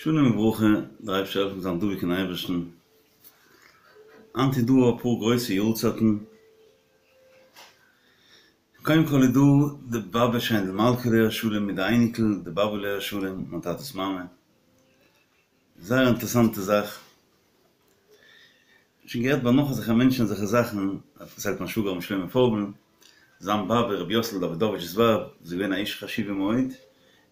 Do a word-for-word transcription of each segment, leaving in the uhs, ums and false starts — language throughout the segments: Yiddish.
שלום וברכה, דער אייבערשטער זאל העלפן זיין דבוק אין אייבערשטן. היינט איז דא אפאר גרויסע יארצייטן. קודם כל איז דא די באבע שיינדל מלכה עליה השלום מיט די אייניקל די באבע עליה השלום, מיין טאטע'ס מאמע. זייער אינטערעסאנטע זאך. שוין געהערט ביי נאך אזעלכע מענטשן אזעלכע זאכן, האט פארציילט מיין שוואגער ר' שלמה פויגל, זיין באבע רבי יוסל דאווידאוויטש'ס ווייב, וואס איז געווען א אישה חשובה מאוד,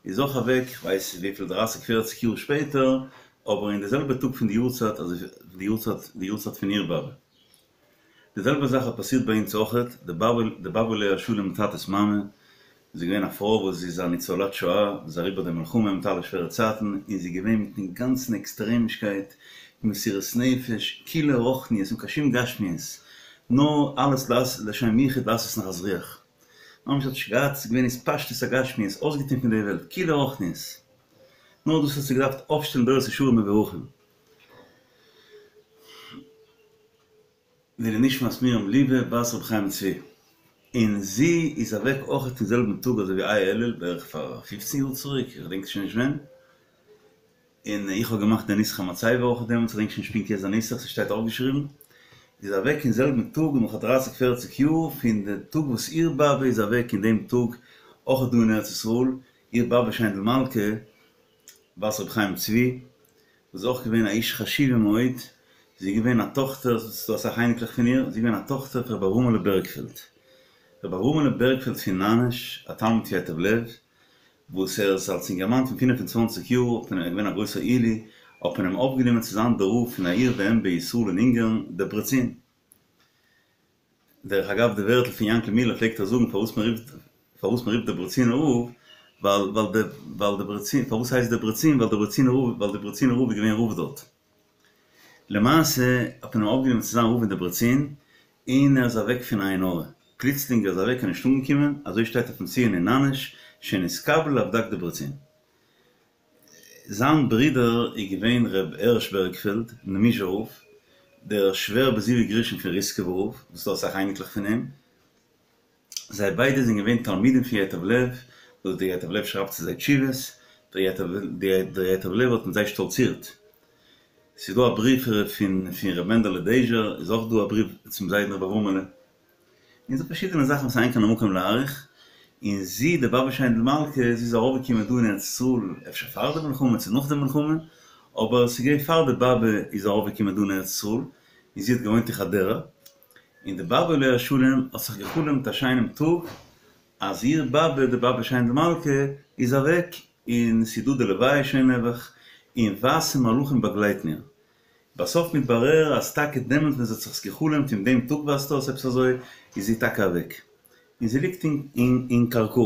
איז אויך אוועק, כ'ווייס נישט וויפיל דרייסיג פערציג יאר שפעטער, אבער אין די זעלבע טאג פון די יארצייט אזוי די יארצייט די יארצייט פון איר באבע. די זעלבע זאך האט פאסירט ביי אונז אויכעט, די באבע די באבע עליה השלום טאטע'ס מאמע, זי איז געווען א פרוי וואס זי איז א ניצולת שואה, זי איז אריבער די מלחמה מיט אלע שווערע צייטן, און זי איז געווען מיטן גאנצן עקסטרעמישקייט, מסירות נפש, כולו רוחניות אן קיין שום גשמיות, נאר אלעס לשם יחוד לעשות נחת רוח. ממש האט נישט געהאט, ס'איז געווען התפשטות הגשמיות, אויסגעטון פון די וועלט, כולו רוחניות. נאר דאס האט זי געדארפט אויפשטעלן דורות ישרים מבורכים. לעילוי נשמת מרים ליבע בת רבי חיים צבי, און זי איז אוועק אויכעט אין זעלבן טאג אזוי ווי ה' אלול בערך פאר פופצן יאר צוריק, איך געדענק שוין נישט ווען, און איך האב געמאכט די נוסח המצבה אויכעט דעמאלטס, איך געדענק שוין נישט פונקט יעצט די נוסח, ס'שטייט אויפגעשריבן, איז אוועק אין זעלבן טאג נאך א דרייסיג פערציג יאר פון די טאג וואס איר באבע איז אוועק אין דעם טאג אויכעט דא אין ארץ ישראל, איר באבע שיינדל מלכה בת רבי חיים צבי, וואס איז אויך געווען א אישה חשובה מאוד, זי איז געווען א טאכטער, ס'איז דא אסאך אייניקלעך פון איר, זי איז געווען א טאכטער פון רבי אברהמ'לע בערגפעלד, רבי אברהמ'לע בערגפעלד פון נאנאש, א תלמיד פון ייטב לב, וואס ער איז אלס אינגערמאן פון פֿינף און צוואַנציק יאר, האט מען, ער איז געווען א גרויסער עילוי, האט מען אים אויפגענומען צו זיין דער רב פון א עיר ואם בישראל אין אונגארן, דעברעצין. דרך אגב די ווערטל פון יענקל מילער פלעגט ער זאגן פארוואס מען רופט פארוואס מען רופט דעברעצינער רב ווייל ווייל די ווייל דעברעצין פארוואס הייסט דעברעצין ווייל דעברעצינער רב ווייל דעברעצינער רב איז געווען רב דארט. למעשה האט מען אים אויפגענומען צו זיין רב אין דעברעצין און ער איז אוועק פון עין הרע פלוצלינג ער איז אוועק און נישט אנגעקומען אזוי שטייט אויפן ציון אין נאנאש שנתקבל לאבד"ק דעברעצין. זיין ברודער איז געווען ר' הערש בערגפעלד, נעמיזשער רב, דער שווער בזיווג ראשון פון ריסקעווער רב, וואס ס'דא אסאך אייניקלעך פון אים. זיי ביידע זענען געווען תלמידים פון ייטב לב, וואס דער ייטב לב שרייבט צו זיי תשובות, דער ייטב לב האט מיט זיי שטאלצירט. ס'איז דא א בריוו פון ר' מענדעלע דעזשער, איז אויך דא א בריוו צום זיידן ר' אברהמ'עלע. און ס'דא פארשידענע זאכן וואס אין כאן המקום להאריך, און זי די באבע שיינדל מלכה זי איז ארויפגעקומען דא אין ארץ ישראל אפשר פאר די מלחמה צו נאך די מלחמה, אבער ס'איז געווען פאר די באבע איז ארויפגעקומען דא אין ארץ ישראל, און זי האט געוואוינט אין חדרה, און די באבע עליה השלום האט זיך גע'חלומ'ט א שיינעם טאג אז איר באבע די באבע שיינדל מלכה איז אוועק, און ס'איז דא די לוויה שוין נעבעך, און ווייסע מלאכים באגלייטן איר. בסוף מתברר אז טאקע דעמאלט ווען זי האט זיך עס גע'חלומ'ט אין דעם טאג ווייזט אויס עפעס אזוי איז זי טאקע אוועק און זי ליגט אין אין קראקא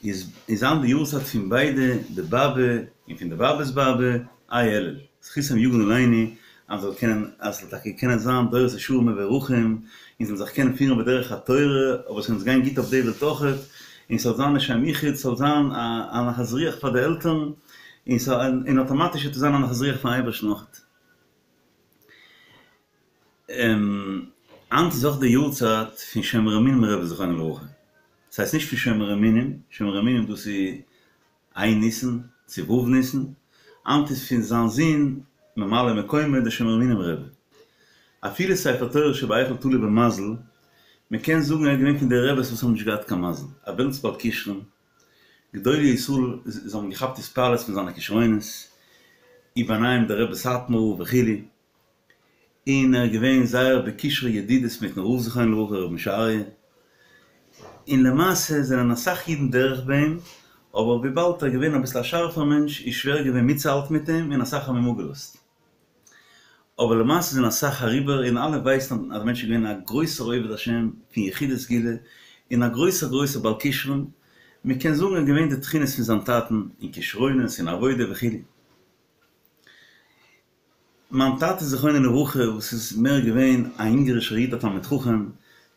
איז איז היינט די יארצייט פון ביידע די באבע און פון די באבע'ס באבע ה' אלול זכותם יגן עלינו אז מ'זאל קענען אז ס'זאל טאקע קענען זיין דורות ישרים מבורכים און זאלן זיך קענען פירן בדרך התורה אבער ס'זאל אונז גיין גוט אויף די וועלט אויכעט און ס'זאל זיין לשם יחוד ס'זאל זיין א נחת רוח פאר די עלטערן און ס'זאל און אטאמאטיש וועט עס זיין א נחת רוח פארן אייבערשטן אויכעט. היינט איז אויך די יארצייט פון שומר אמונים רבי זכרונו לברכה. ס'הייסט נישט פון שומר אמונים, שומר אמונים דאס איז ה' ניסן צו ו' ניסן, היינט איז פון זיין זון ממלא מקומו דער שומר אמונים רבי. אפילו ספר תורה שבהיכל תלוי במזל, מ'קען זאגן ער איז געווען פון די רעבעס וואס האבן נישט געהאט קיין מזל, א וועלטס בעל כשרון, גדולי ישראל זיי האבן געכאפט התפעלות פון זיינע כשרונות, וביניהם דער רבי סאטמאר וכו', און ער איז געווען זייער בקשרי ידידות מיטן רב זכרונו לברכה רבי משה אריה, און למעשה זענען אסאך אידן דורך ביי אים, אבער וויבאלד ער איז געווען אביסל א שארפער מענטש איז שווער געווען מיטצוהאלטן מיט אים און אסאך האבן אים אפגעלאזט. אבער למעשה זענען אסאך אריבער און אלע ווייסן אז דער מענטש איז געווען א גרויסער עובד השם פון יחידי סגולה און א גרויסער גרויסער בעל כשרון, מען קען זאגן ער איז געווען די תכונות פון זיין טאטן אין כשרונות אין עבודה וכו'. מיין טאטע זכרונו לברכה וואס איז מער געווען א אונגערישער איד א תלמיד חכם,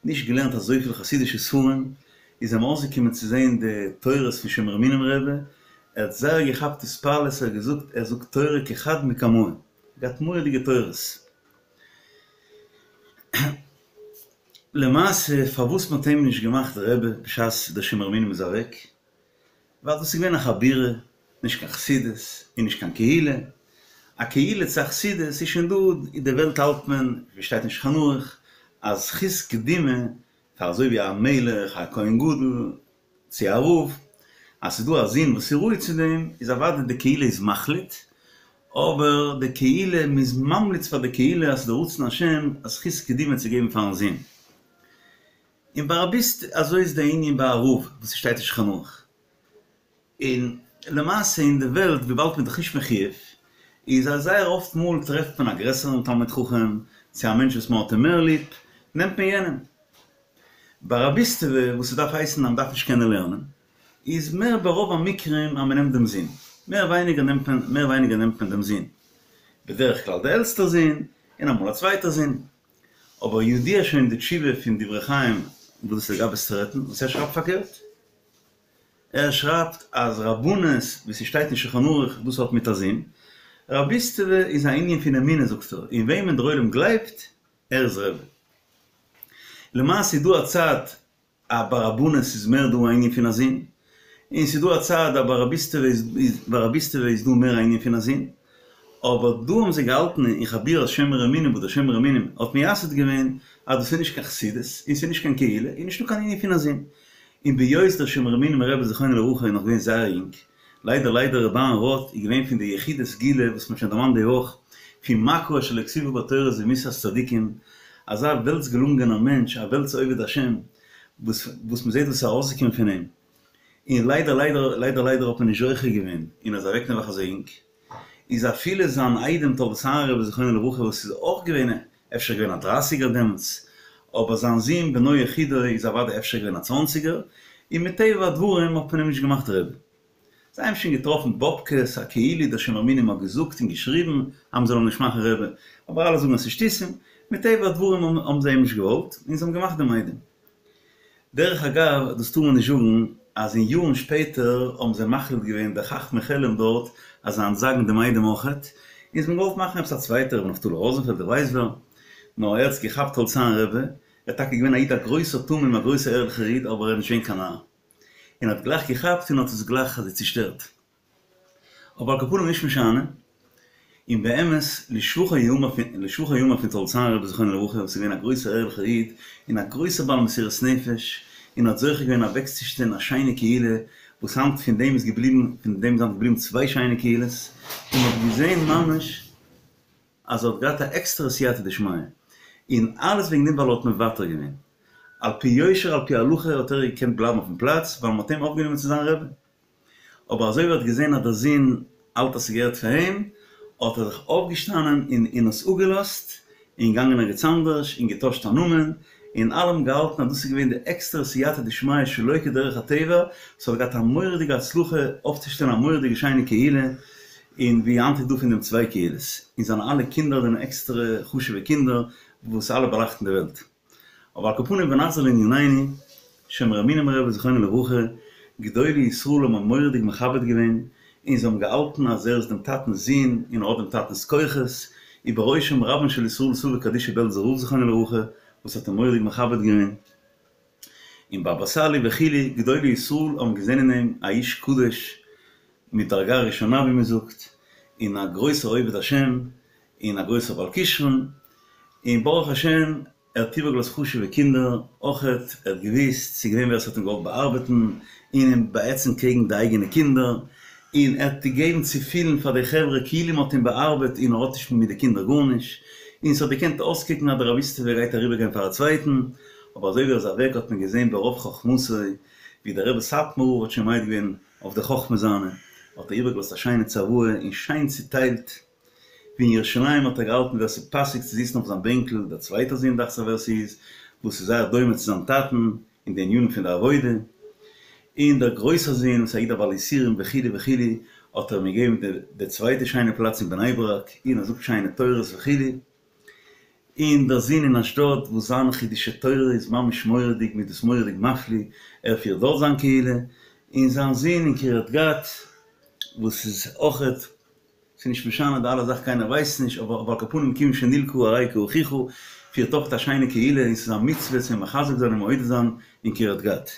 נישט געלערנט אזויפיל חסידישע ספרים, איז אים אויסגעקומען צו זען די תורות פון שומר אמונים רבי, ער האט זייער געכאפט התפעלות, ער האט געזאגט ער זאגט תורה כחד מקמאי, געהאט מורא'דיגע תורות. למעשה פארוואס מען האט אים נישט געמאכט רבי בשעת דער שומר אמונים איז אוועק, ווייל דאס איז געווען א חבורה, נישט קיין חסידות און נישט קיין קהילה. א קהילה צו א חסידות איז שוין דא, אין די וועלט האלט מען, ווי שטייט אין שולחן ערוך, אז זכות קדימה פאר אזוי ווי א מלך, א כהן גדול, צו א רב, אז ס'איז דא א זון וואס איז ראוי צו דעם, איז אוודאי די קהילה איז מחליט, אבער די קהילה, מ'איז ממליץ פאר די קהילה אז ס'איז די רצון השם אז זכות קדימה צו געבן פארן זון. און ביי רביסט אזוי איז די ענין ביי א רב וואס ס'שטייט אין שולחן ערוך. און למעשה אין די וועלט וויבאלד מ'איז דאך נישט מחויב, איז אז זייער אפט מאל טרעפט מען א גרעסערן תלמיד חכם, צו א מענטש וואס מ'האט אים מער ליב, נעמט מען יענעם. ביי רביסטעווע וואס ס'דארף הייסן אז מ'דארף נישט קענען לערנען, איז מער ברוב המקרים אז מ'נעמט דעם זון. מער ווייניגער נעמט מען מער ווייניגער נעמט מען דעם זון. בדרך כלל דער עלטסטער זון, און אמאל א צווייטער זון. אבער ידוע שוין די תשובה פון דברי חיים וואס דאס איז לגבי סטרעטין וואס ער שרייבט פארקערט. ער שרייבט אז רבנות ווי ס'שטייט אין שולחן ערוך דאס האט מיט א זון. רביסטעווע איז א ענין פון אמונה זאגט ער, אין וועמען דער עולם גלייבט, ער איז רבי. למעשה איז דא א צד אז ביי רבנות איז מער דא א ענין פון א זון, און ס'איז דא א צד אז ביי רביסטעווע איז ביי רביסטעווע איז דא מער א ענין פון א זון, אבער דא האבן זיי געהאלטן אין חבורת שומרי אמונים וואס דער שומר אמונים האט מייסד געווען אז דאס איז נישט קיין חסידות און ס'איז נישט קיין קהילה און נישטא קיין ענין פון א זון. און בהיות דער שומר אמונים רבי זכרונו לברכה איז נאך געווען זייער יונג, ליידער ליידער ר' אהרן ראטה איז געווען פון די יחידי סגולה וואס מ'האט שוין דערמאנט די וואך, פון מכה אשר לא כתובה בתורה זו מיתת צדיקים, אזא וועלטס געלונגענער מענטש, א וועלטס עובד השם, וואס וואס מ'זעט וואס איז ארויסגעקומען פון אים, און ליידער ליידער ליידער ליידער האט מען נישט זוכה געווען און ער איז אוועק נעבעך אזוי יונג, איז אפילו זיין איידעם תולדות אהרן רבי זכרונו לברכה וואס איז אויך געווען אפשר געווען א דרייסיגער דעמאלטס, אבער זיין זון בנו יחידו איז אוודאי אפשר געווען א צוואנציגער, און מטבע הדברים האט מען אים נישט געמאכט רבי. זיי האבן שוין געטראפן באבקעס, א כאילו דער שומר אמונים האט געזאגט און געשריבן אז מען זאל אים נישט מאכן רבי, אבער אלע זאגן אז ס'איז שטותים, מטבע הדברים האבן זיי אים נישט געוואלט, און זיי האבן געמאכט דעם איידעם. דרך אגב, דאס טאר מען נישט זאגן, אז אין יארן שפעטער האבן זיי מחליט געווען די חכמי חלם דארט אז זיי אנטזאגן דעם איידעם אויכעט, און זיי האבן געוואלט מאכן עפעס א צווייטער רבי נפתלי ראזענפעלד איך ווייס ווער, נאר ער האט עס געכאפט תולדות אהרן רבי, ער איז טאקע געווען א איד א גרויסער תמים א גרויסער ערליכער איד אבער ער איז נישט געווען קיין נאר, און האט גלייך געכאפט און האט עס גלייך אזוי צושטערט. אבער על כל פנים נישט משנה, און באמת לשבחו יאמר פון לשבחו יאמר פון תולדות אהרן רבי זכרונו לברכה וואס איז געווען א גרויסער ערליכער איד און א גרויסער בעל מסירות נפש און האט זוכה געווען אוועקצושטעלן א שיינע קהילה וואס היינט פון דעם איז געבליבן פון דעם איז היינט געבליבן צוויי שיינע קהילות און מען האט געזען ממש אז ער האט געהאט א עקסטערע סייעתא דשמיא און אלעס וועגן דעם ווייל ער האט מוותר געווען על פי יושר על פי הלכה האט ער געקענט בלייבן אויפן פלאץ ווייל מען האט אים אויפגענומען צו זיין רבי. אבער אזוי ווי ער האט געזען אז דער זון האלט אז ס'געהערט פאר אים, האט ער זיך אויפגעשטאנען און און עס אפגעלאזט, און געגאנגען ערגעץ אנדערש, און געטוישט א נאמען, און אלע האבן געהאלטן אז דאס איז געווען די עקסטערע סייעתא דשמיא שלא כדרך הטבע, ס'האט געהאט א מורא'דיגע הצלחה אויפצושטעלן א מורא'דיגע שיינע קהילה, און ווי היינט איז דא פון דעם צוויי קהילות, און זיינע אלע קינדער זענען עקסטערע חשוב'ע קינדער וואס אלע באלייכטן די וועלט. אבער על כל פנים ונחזור לענינינו, שומר אמונים רבי זכרונו לברכה, גדולי ישראל האבן אים מורא'דיג מכבד געווען, און זיי האבן געהאלטן אז ער איז דעם טאטנ'ס זון און ער האט דעם טאטנ'ס כוחות, ובראשם רבן של ישראל סבא קדישא בעלזער רב זכרונו לברכה, וואס האט אים מורא'דיג מכבד געווען, און באבא סאלי וכו', גדולי ישראל האבן געזען אין אים א איש קדוש מדרגה ראשונה ווי מען זאגט, און א גרויסער עובד השם, און א גרויסער בעל כשרון, און ברוך השם ער האט איבערגעלאזט חשוב'ע קינדער אויכעט, ער האט געוואוסט ס'איז געווען ווער ס'האט אים געוואלט באארבעטן און אים באהעצן קעגן די אייגענע קינדער, און ער האט געגעבן צו פילן פאר די חברה כאילו מ'האט אים באארבעט און ער האט נישט מיט די קינדער גארנישט, און ס'האט געקענט אויסקוקן אז די רביסטעווע גייט אריבערגיין פאר א צווייטן, אבער אזוי ווי ער איז אוועק האט מען געזען ברוב חכמתו ווי דער רבי סאטמאר רב האט שוין מעיד געווען אויף די חכמה זיינע, האט ער איבערגעלאזט א שיינע צוואה און שיין צוטיילט. ווי אין ירושלים האט ער געהאלטן ווער ס'איז פאסיג צו זיצן אויף זיין בענקל, דער צווייטער זון דאכט זיך ווער ס'איז, וואס איז זייער דומה צו זיין טאטן אין די ענינים פון די עבודה, און דער גרויסער זון וואס איז א איד א בעל יסורים וכו' וכו' האט ער אים געגעבן די צווייטע שיינע פלאץ אין בני ברק, און ער זאגט שיינע תורות וכו', און דער זון אין אשדוד וואס זיין חידושי תורה איז ממש מורא'דיג מ'איז דאס מורא'דיג מפליא, ער פירט דארט זיין קהילה, און זיין זון אין קרית גת וואס איז אויכעט. ס'איז נישט משנה די אלע זאכן קיינער ווייסט נישט אבער אבער על כל פנים כיון שנלקה הרי כאחיך פירט אויך א שיינע קהילה און ס'איז א מצוה צו מחזק זיין און מעודד זיין אין קרית גת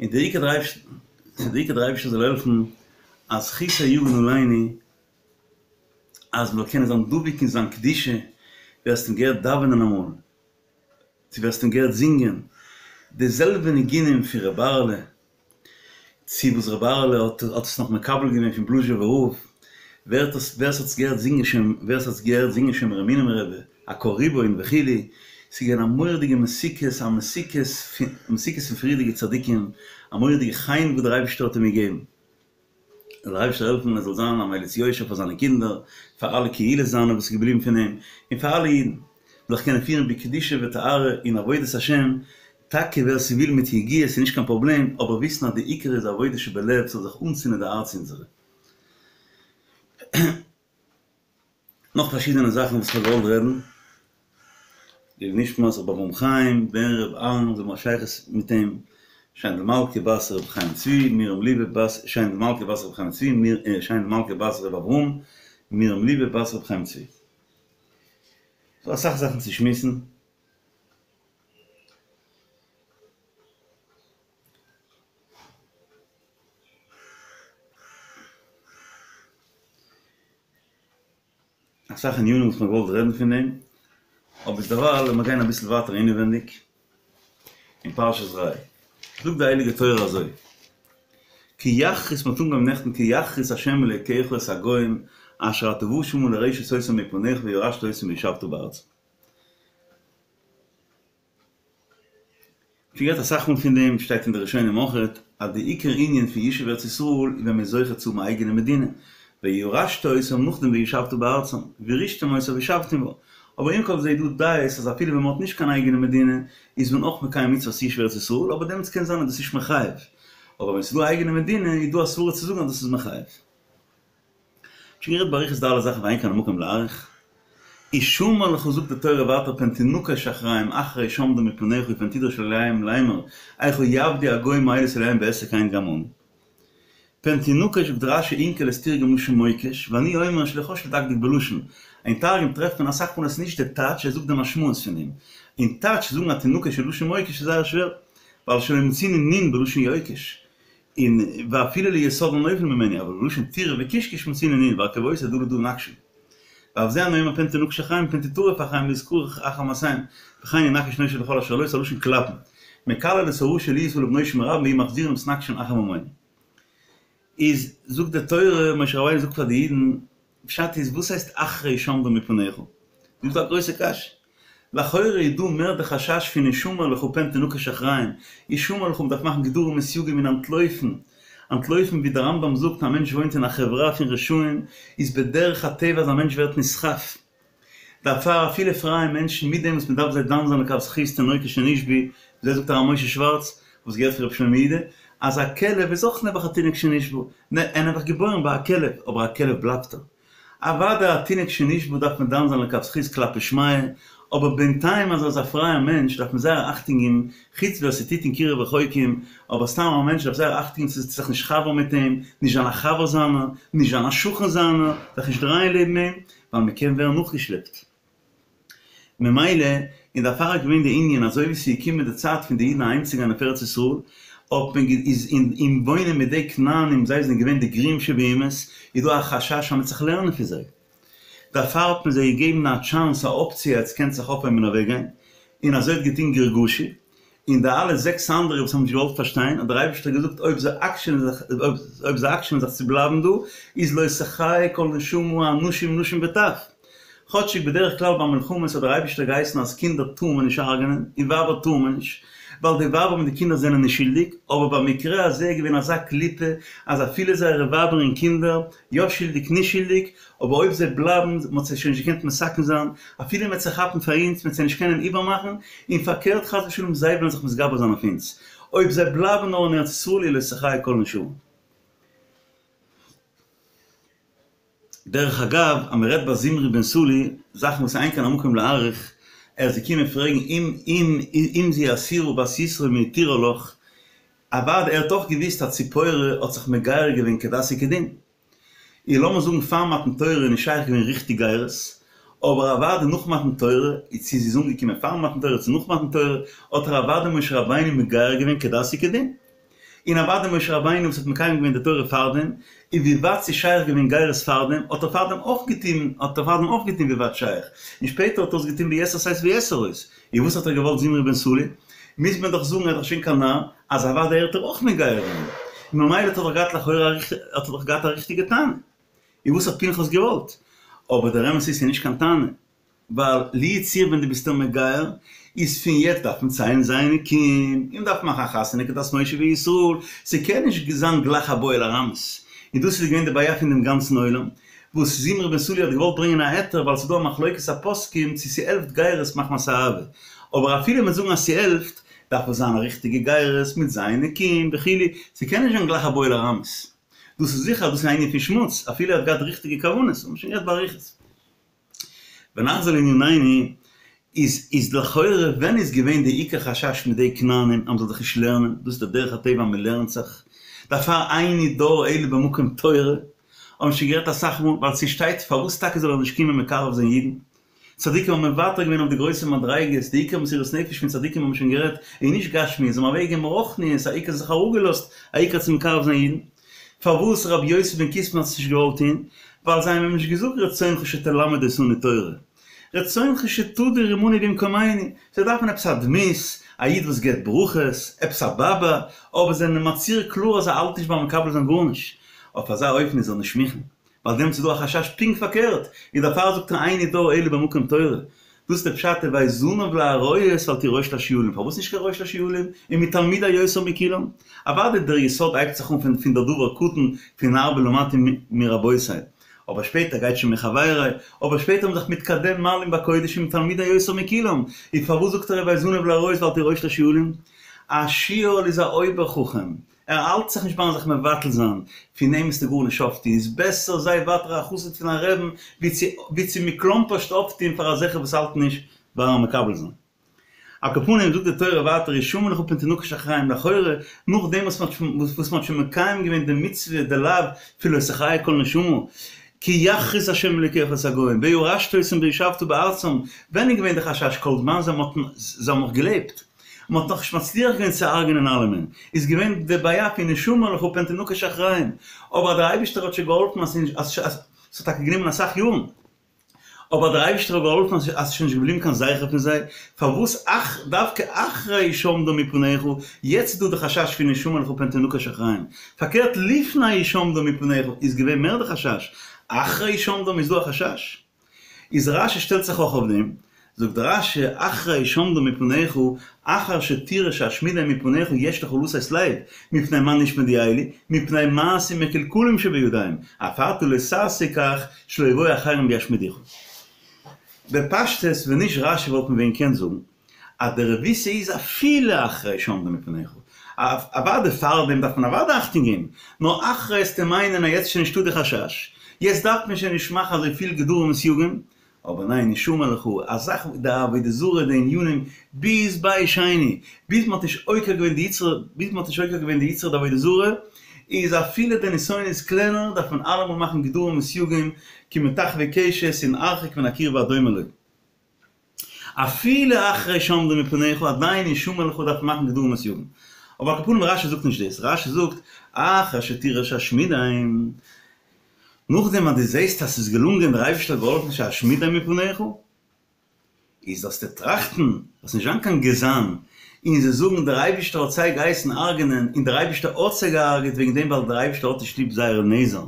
און דער עיקר דער אייבערשטער דער עיקר דער אייבערשטער זאל העלפן אז זכותו יגן עלינו אז מ'זאל קענען זיין דבוק אין זיין קדושה, ווער ס'האט אים געהערט דאווענען אמאל, צו ווער ס'האט אים געהערט זינגען, די זעלבע ניגונים פון ר' אהר'לע, צו וואס ר' אהר'לע האט האט עס נאך מקבל געווען פון בלאזשובער רב, ווער האט עס ווער ס'האט עס געהערט זינגען שוין ווער ס'האט עס געהערט זינגען שומר אמונים רבי, א קה ריבון וכו', ס'איז געווען א מורא'דיגע מתיקות, א מתיקות פון מתיקות פון פריערדיגע צדיקים, א מורא'דיגע חן וואס דער אייבערשטער האט אים געגעבן. זאל דער אייבערשטער העלפן ער זאל זיין א מליץ יושר פאר זיינע קינדער, פאר אלע קהילות זיינע וואס איז געבליבן פון אים, און פאר אלע אידן, זאל זיך קענען פירן בקדושה וטהרה אין עבודת השם, טאקע ווער ס'וויל מיט יגיעה ס'איז נישט קיין פראבלעם, אבער וויסן אז די עיקר איז עבודה שבלב ס'זאל זיך אנצינדן די הארץ אונזערע. נאך פארשידענע זאכן וואס כ'האב געוואלט רעדן. לעילוי נשמת ר' אברהם חיים בן ר' אהרן זאל האבן א שייכות מיט אים, שיינדל מלכה בת ר' חיים צבי, מרים ליבע בת שיינדל מלכה בת ר' חיים צבי, שיינדל מלכה בת ר' אברהם, מרים ליבע בת ר' חיים צבי. ס'דא אסאך זאכן צו שמועסן. אסאך ענינים וואס מ'האט געוואלט רעדן פון דעם, אבער דערווייל לאמיר גיין אביסל ווייטער אינעווענדיג אין פרשת ראה. זאגט די הייליגע תורה אזוי, כי יכרית מ'האט אנגעהויבן נעכטן כי יכרית ה' אלוקיך את הגוים אשר אתה בא שמה לרשת אותם מפניך וירשת אותם וישבת בארצם. שוין גערעדט אסאך מאל פון דעם, שטייט אין די ראשונים אויכעט, אז די עיקר ענין פון ישוב ארץ ישראל איז ווען מען איז זוכה צו האבן א אייגענע מדינה, וירשת אותם נאכדעם וישבת בארצם, וירשתם אותה וישבתם בה, אבער עם כל זה איז דא דעות אז אפילו ווען מען האט נישט קיין אייגענע מדינה איז מען אויך מקיים מצוות ישוב ארץ ישראל, אבער דעמאלטס קען זיין אז דאס איז נישט מחייב, אבער ווען ס'איז דא א אייגענע מדינה איז דא א סברה צו זאגן אז דאס איז מחייב. שוין גערעדט באריכות די אלע זאכן ואין כאן המקום להאריך. השמר לך זאגט די תורה ווייטער פן תנקש אחריהם אחרי שמדם מפניך ופן תדרש לאלהיהם לאמר איכה יעבדו הגוים האלה את אלהיהם ואעשה כן גם אני. פן תנקש זאגט רש"י אונקלוס תרגם לשון מוקש ואני אומר שלא חש לדקדק בלשון. אין תרגום טרעפט מען אסאך מאל עס איז נישט די טייטש ער זאגט די משמעות פון דעם. אין טייטש זאגן אז תנקש איז לשון מוקש איז זייער שווער ווייל שלא מצינו נ' בלשון יוקש. און ואפילו ליסוד הנופל ממנו, אבל בלשון טירוף וקשקוש מצינו נ' והרכבותי דא לדא נקשן. ואף זה אני אומר פן תנקש אחריהם פן תטרף אחריהם להתכרך אחר מעשיהם, וכן ינקש נושה לכל אשר לו, ס'א לשון קלאפן. מקלל את הרשע להיות עליו נושה מרבים ויהיו מחזירים ומתנקשים אחר ממונו. איז זאגט די תורה, משה רבינו זאגט פאר די אידן, פשט איז וואס הייסט אחרי שמדם מפניך? דא איז דא א גרויסע קשיא. לכאורה איז דא מער די חשש פון השמר לך פן תנקש אחריהם, השמר לך מ'דארף מאכן גדרים וסייגים און אנטלויפן, אנטלויפן ווי די רמב"ם זאגט א מענטש וואוינט אין א חברה פון רשעים איז בדרך הטבע אז א מענטש ווערט נסחף, דערפאר אפילו פרייע מענטשן מיט דעם וואס מ'דארף זיי דן זיין לכף זכות תינוקות שנשבו, אזוי זאגט הרב משה שווארץ, וואס געהערט פון רבי שלמה יהודה, אז א כלב איז אויך נעבעך א תינוק שנשבה, נע, ער נעבעך געבוירן ביי א כלב, אבער א כלב בלייבט ער. אוודאי א תינוק שנשבה דארף מען דן זיין לכף זכות כלפי שמיא, אבער בינתיים אז ער איז א פרייער מענטש דארף מען זייער אכטונג געבן, חוץ ווער ס'טוט אין קירוב רחוקים, אבער סתם א מענטש דארף זייער אכטונג געבן צו זיך נישט חבר'ן מיט אים, נישט זיין א חבר זיינער, נישט זיין א שכן זיינער, זיך נישט דרייען לעבן אים, ווייל מ'קען ווערן נאכגעשלעפט. ממילא און דערפאר איז געווען די ענין אזוי ווי ס'איז געקומען די צייט פון די אידן אהיימצוגיין אויף ארץ ישראל, האט מען איז אין אין וואוינען מיט די כנענים זיי זענען געווען די גרועים שבאומות, איז דא א חשש אז מ'וועט זיך לערנען פון זיי. דערפאר האט מען זיי געגעבן א טשאנס א אפציע עטס קענטס זיך אויפהייבן און אוועקגיין, און אזוי האט געטון גרגשי, און די אלע זעקס אנדערע וואס האבן נישט געוואלט פארשטיין, האט דער אייבערשטער געזאגט אויב זיי עקשנ'ען זיך, אויב זיי עקשנ'ען זיך צו בלייבן דא, איז לא תחיה כל נשמה אנשים נשים וטף. כאטשיג בדרך כלל ביי מלחמות האט דער אייבערשטער געהייסן אז קינדער טאר מען נישט הרג'נען, און ווייבער טאר מען נישט, ווייל די ווייבער מיט די קינדער זענען נישט שולדיג, אבער במקרה הזה איז געווען אזא קליפה אז אפילו זייערע ווייבער און קינדער, יא שולדיג נישט שולדיג, אבער אויב זיי בלייבן, מען האט זיי שוין נישט געקענט מתקן זיין, אפילו מען וועט זיי כאפן פאר אונז, מען וועט זיי נישט קענען איבערמאכן, און פארקערט חס ושלום זיי וועלן זיך מתגבר זיין אויף אונז, אויב זיי בלייבן נאר אין ארץ ישראל איז לא תחיה כל נשמה. דרך אגב, אז מען רעדט ביי זמרי בן סלוא, זאכן וואס אין כאן המקום להאריך, ער איז געקומען פרעגן אם אם אם זו אסורה בת יתרו מהתירה לך, אוודאי ער האט אויך געוואוסט אז ציפורה האט זיך מגייר געווען כדת וכדין. און לאמיר זאגן פאר מתן תורה איז נישט שייך געווען ריכטיג גירות, אבער אוודאי נאך מתן תורה, איז צו זי איז אנגעקומען פאר מתן תורה צו נאך מתן תורה, האט ער אוודאי משה רבינו מגייר געווען כדת וכדין. און אוודאי משה רבינו וואס האט מקיים געווען די תורה פארדעם, און ווי ווייט ס'איז שייך געווען גירות פארדעם, האט ער פארדעם אויך געטון, האט ער פארדעם אויך געטון ווי ווייט שייך, און שפעטער האט ער עס געטון ביתר שאת ויתר עוז. און וואס האט ער געוואלט זמרי בן סלוא? מוז מען דאך זאגן ער איז דאך שוין קיין נער, אז אוודאי האט ער אויך מגייר געווען. און ממילא האט ער דאך געהאט לכאורה האט ער דאך געהאט א ריכטיגע טענה. און וואס האט פנחס געוואלט? אבער דער אמת איז ס'איז נישט קיין טענה. ווייל לו יצוייר ווען דו ביסט אים מגייר, איז פון יעצט דארף מען ציילן ז' נקיים, און מ'דארף מאכן א חתונה כדת משה וישראל, ס'קען נישט זיין גלייך א בועל ארמית. און דאס איז געווען די בעיה פון דעם גאנצן עולם, וואס זמרי בן סלוא האט געוואלט ברענגען א היתר ווייל ס'איז דא א מחלוקת הפוסקים צו ס'העלפט גירות מחמת אהבה, אבער אפילו מ'וועט זאגן אז ס'העלפט, דארף עס זיין א ריכטיגע גירות מיט ז' נקיים וכו', ס'קען נישט זיין גלייך א בועל ארמית. דאס איז זיכער אז דאס איז א ענין פון שמוץ, אפילו ער האט געהאט ריכטיגע כוונות, האבן מיר שוין גערעדט באריכות. ונחזור לענינינו, איז איז לכאורה ווען איז געווען די עיקר חשש מיט די כנענים אז מ'זאל זיך נישט לערנען, דאס איז די דרך הטבע אז מ'לערנט זיך, דערפאר איני דר אלא במקום תורה, האבן שוין גערעדט אסאך מאל, ווייל ס'שטייט פארוואס טאקע זאל ער נישט קומען מקרב זיין אידן, צדיקים האבן מוותר געווען אויף די גרויסע מדריגות, די עיקר מסירות נפש פון צדיקים האבן שוין גערעדט, איז נישט גשמיות, זיי האבן אוועקגעגעבן רוחניות, א עיקר זיך אראפגעלאזט, א עיקר צו מקרב זיין אידן. פארוואס רבי יוסי בן קיסמא האט עס נישט געוואלט טון? ווייל זיי האבן אים נישט געזאגט רצונך שתלמד אותנו תורה, רצונך שתדור עמנו במקומנו, זיי דארפן עפעס א דמות, א איד וואס געבט ברכות, עפעס א באבא, אבער זיי זענען מצהיר קלאר אז זיי האלטן נישט ביים מקבל זיין גארנישט, אויף אזא אופן איז ער נישט מוכן. ווייל דעמאלטס איז דא א חשש פונקט פארקערט, און דערפאר זאגט ער איני דר אלא במקום תורה. דאס איז די פשט הוי זנב לאריות ואל תהי ראש לשועלים, פארוואס נישט קיין ראש לשועלים? ומתלמידי יותר מכולם. אוודאי דער יסוד הייבט זיך אן פון פון דער דבר קטן פון הרבה למדתי מרבותי, אבער שפעטער גייט שוין מחברי, אבער שפעטער האבן זיך מתקדם מעלים בקודש ומתלמידי יותר מכולם, און פארוואס זאגט ער הוי זנב לאריות ואל תהי ראש לשועלים? א שועל איז א אויבער חכם, ער האלט זיך נישט ביים זיך מבטל זיין, פון אים וועסטו גארנישט אויפטון, איז בעסער זיי ווייטער א חסיד פון א רעבן ווי צו ווי צו מקלומפערשט אויפטון פאר אזעלכע וואס האלטן נישט ביים מקבל זיין. על כל פנים זאגט די תורה ווייטער השמר לך פן תנקש אחריהם לכאורה נאכדעם וואס מען האט וואס מען האט שוין מקיים געווען די מצוה די לאו פון לא תחיה כל נשמה כי יכרית ה' אלוקיך את הגוים וירשת אותם וישבת בארצם ווען איז געווען די חשש כל זמן זיי האבן נאך געלעבט? מען האט נאכנישט מצליח געווען צו הרג'נען אלעמען, איז געווען די בעיה פון השמר לך פן תנקש אחריהם, אבער דער אייבישטער האט שוין געהאלפן אז ס'האט טאקע גענומען אסאך יארן, אבער דער אייבישטער האט געהאלפן אז ס'איז שוין נישט געבליבן קיין זכר פון זיי, פארוואס אך דווקא אחרי השמדם מפניך, יעצט איזדא די חשש פון השמר לך פן תנקש אחריהם, פארקערט לפני השמדם מפניך איז געווען מער די חשש, אחרי השמדם איז דא א חשש? איז רשי שטעלט זיך אויך אויף דעם, זאגט רשי אחרי השמדם מפניך, אחר שתראה שאשמידם מפניך יש לך לתת לב, מפני מה נשמדו אלו, מפני מעשים מקולקלים שבידיהם, אף אתה לא תעשה כך שלא יבואו אחרים וישמידוך. בפשטות ווען נישט רשי וואלט מען ווען געקענט זאגן אז די רבותא איז אפילו אחרי השמדם מפניך, אוודאי פארדעם דארף מען אוודאי אכטונג געבן, נאר אחרי וועסטו מיינען אז יעצט איז שוין נישטא די חשש, יעצט דארף מען שוין נישט מאכן אזוי פיל גדרים וסייגים, אבער ניין השמר לך, א זאך די עבודה זרה די ענינים ביז בית שני, ביז מען האט נישט עוקר געווען די יצרא, ביז מען האט נישט עוקר געווען די יצרא דעבודה זרה, איז אפילו די נסיון איז קלענער דארף מען אלעמאל מאכן גדרים וסייגים כמטחווי קשת און הרחק מן הקרבה הדומה לו. אפילו אחרי השמדם מפניך עדיין השמר לך דארף מען מאכן גדרים וסייגים. אבער על כל פנים רשי זאגט נישט דאס, רשי זאגט אחר שתראה שאשמידם, נאכדעם אז דו זעסט אז ס'איז געלונגען דער אייבערשטער האט געהאלפן שאשמידם מפניך, איז זאלסטו טראכטן, זאלסט נישט זיין קיין גזען, און זיי זאגן דער אייבערשטער האט זיי געהייסן הרג'נען און דער אייבערשטער האט זיי געהארגעט וועגן דעם ווייל דער אייבערשטער האט נישט ליב זייערע נעזער.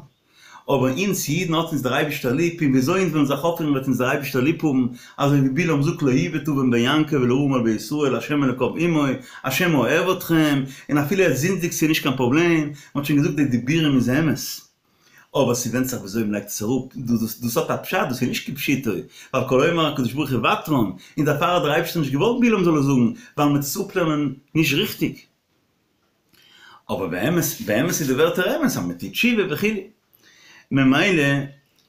אבער אונז אידן האט אונז דער אייבישטער ליב, און וויאזוי אונז וועלן זיך אויפפירן וועט אונז דער אייבישטער ליב האבן, אזוי ווי בלעם זאגט לא יבוט און בן יעקב ולרעה מעל בישראל השם אלוקיו עמו, השם אוהב אתכם, און אפילו עטס זינדיגט ס'איז נישט קיין פראבלעם, מען האט שוין געזאגט די דיבורים איז אמת, אבער ס'ווענדט זיך וויאזוי מען לייגט עס אראפ, דאס האט א פשט, דאס איז נישט כפשוטו, ווייל כל האומר הקדוש ברוך הוא ותרן, און דערפאר האט דער אייבישטער נישט געוואלט בלעם זאל עס זאגן, ווייל מען וועט עס אפלערנען נישט ריכטיג. אבער באמת באמת איז די ווערטער אמת אז מען טוט תשובה וכו'. ממילא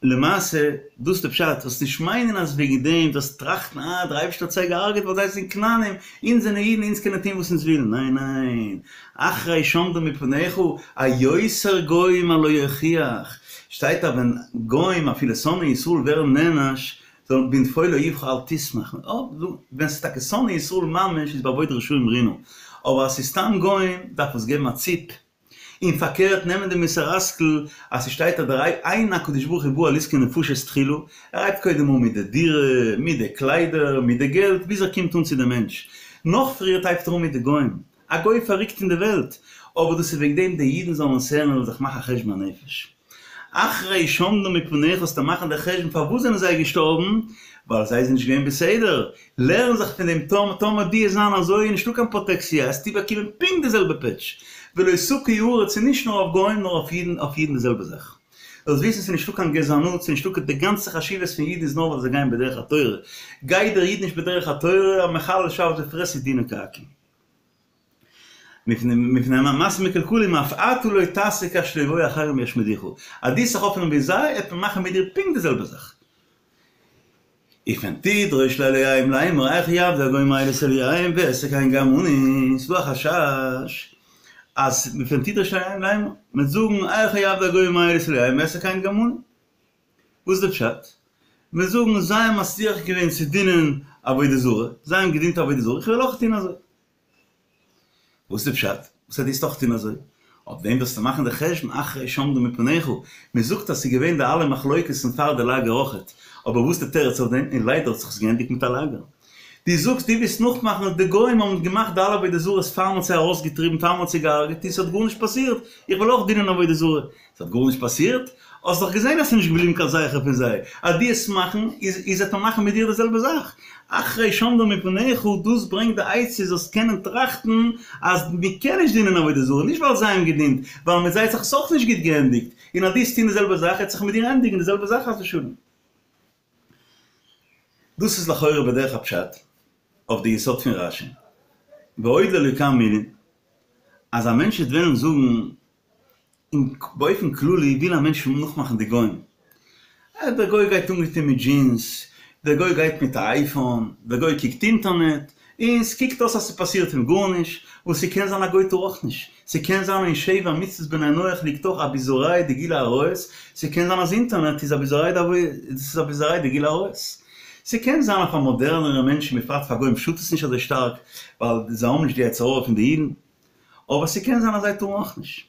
למעשה דאס איז די פשט, זאלסט נישט מיינען אז וועגן דעם זאלסט טראכטן אה דער אייבערשטער האט זיי געהארגעט ווייל זיי זענען כנענים, אונז זענען אידן אונז קענען טון וואס אונז ווילן, ניין ניין, אחרי השמדם מפניך היותר גוים הלא יוכיח, שטייט אז ווען גוים אפילו שונאי ישראל ווערן נענש זאל בנפול אויבך אל תשמח, ווען ס'איז טאקע שונאי ישראל ממש איז באבוד רשעים רינה, אבער אז ס'איז סתם גוים דארף עס געבן א ציפ, און פארקערט נעמען די מוסר השכל אז ס'שטייט אז דער אין הקדוש ברוך הוא בא על עסקי נפשות תחילה, ער הייבט קודם אן מיט די דירה, מיט די קליידער, מיט די געלט, ביז ער קומט אן צו די מענטש. נאך פריערט הייבט ער אן מיט די גוים. א גוי פארריקט אין די וועלט. אבער דאס איז וועגן דעם די אידן זאלן עס הערן און זיך מאכן א חשבון הנפש. אחרי שעמדו מפניך זאלסטו מאכן די חשבון פארוואס זענען זיי געשטארבן, ווייל זיי זענען נישט געווען בסדר, לערן זיך פון דעם טאמער טאמער דו וועסט זיין אזוי איז נישטא קיין פראטעקציע עסטו באקומען פונקט די זעלבע פעטש, ולא תקיא הארץ איז נישט נאר אויף גוים נאר אויף אידן אויף אידן די זעלבע זאך. זאלסט וויסן ס'איז נישטא קיין גזענות ס'איז נישטא קיין די גאנצע חשיבות פון אידן איז נאר ווייל זיי גייען בדרך התורה, גייט דער איד נישט בדרך התורה א מחלל שבת ופרעסט איז דינו כעכו"ם. מפני מעשים מקולקלים אף אתה לא תעשה כך שלא יבואו אחרים וישמידוך. אז דו וועסט זיך אויפפירן ווי זיי, וועט מען מאכן מיט דיר פונקט די זעלבע זאך. ופן תדרוש לאלהיהם לאמר איכה יעבדו הגוים האלה את אלהיהם ואעשה כן גם אני. ס'איז דא א חשש אז ופן תדרוש לאלהיהם לאמר, מ'וועט זאגן איכה יעבדו הגוים האלה את אלהיהם ואעשה כן גם אני. וואס איז די פשט? מ'וועט זאגן זיי האבן מצליח געווען צו דינען עבודה זרה, זיי האבן געדינט עבודה זרה, איך וועל אויך טון אזוי. וואס איז די פשט? וואס הייסט דו וועסט אויך טון אזוי? אויף דעם זאלסטו מאכן די חשבון אחרי שעמדו מפניך, מען זאגט אז ס'איז געווען די אלע מחלוקת'ן פאר די לאגער אויכעט, אבער וואס איז די תירוץ אויף דעם? און ליידער האט זיך עס געענדיגט מיט א לאגער. דו זאגסט דו ווילסט נאכמאכן אז די גוים האבן געמאכט די אלע עבודה זרות פאר מען האט זיי ארויסגעטריבן פאר מען האט זיי געהארגעט און ס'האט גארנישט פאסירט, איך וויל אויך דינען עבודה זרה. ס'האט גארנישט פאסירט? האסט דאך געזען אז ס'איז נישט געבליבן קיין זכר פון זיי, אז דו וועסט מאכן, איז איז וועט מען מאכן מיט דיר די זעלבע זאך. אחרי שעמדו מפניך, דאס ברענגט די עצה זאלסט קענען טראכטן אז מ'קען נישט דינען עבודה זרה, נישט ווייל זיי האבן געדינט, ווייל מיט זיי האט זיך עס אויך נישט גוט געענדיגט, און אז דו וועסט טון די זעלבע זאך וועט זיך מיט דיר ענדיגן די זעלבע זאך חס ושלום. דאס איז לכאורה בדרך הפשט אויף די יסוד פון רש"י, ועוד לאלוקי מילים, אז א מענטש וועט וועלן זאגן און באופן כללי וויל א מענטש נאכמאכן די גוים. דער גוי גייט אנגעטון מיט דזשינס, דער גוי גייט מיט א אייפאון, דער גוי קוקט אינטערנעט, און ס'קוקט אויס אז ס'פאסירט אים גארנישט, וואס ס'קען זיין א גוי טאר אויך נישט, ס'קען זיין אין שבע מצוות בני נח ליגט אויך אביזרייהו דגילוי עריות, ס'קען זיין אז אינטערנעט איז אביזרייהו דגילוי עריות. ס'קען זיין אז פאר מאדערנערע מענטשן בפרט פאר גוים שאדט עס נישט אזוי שטארק, ווייל זיי האבן נישט די יצר הרע פון די אידן. אבער ס'קען זיין אז זיי טארן אויך נישט.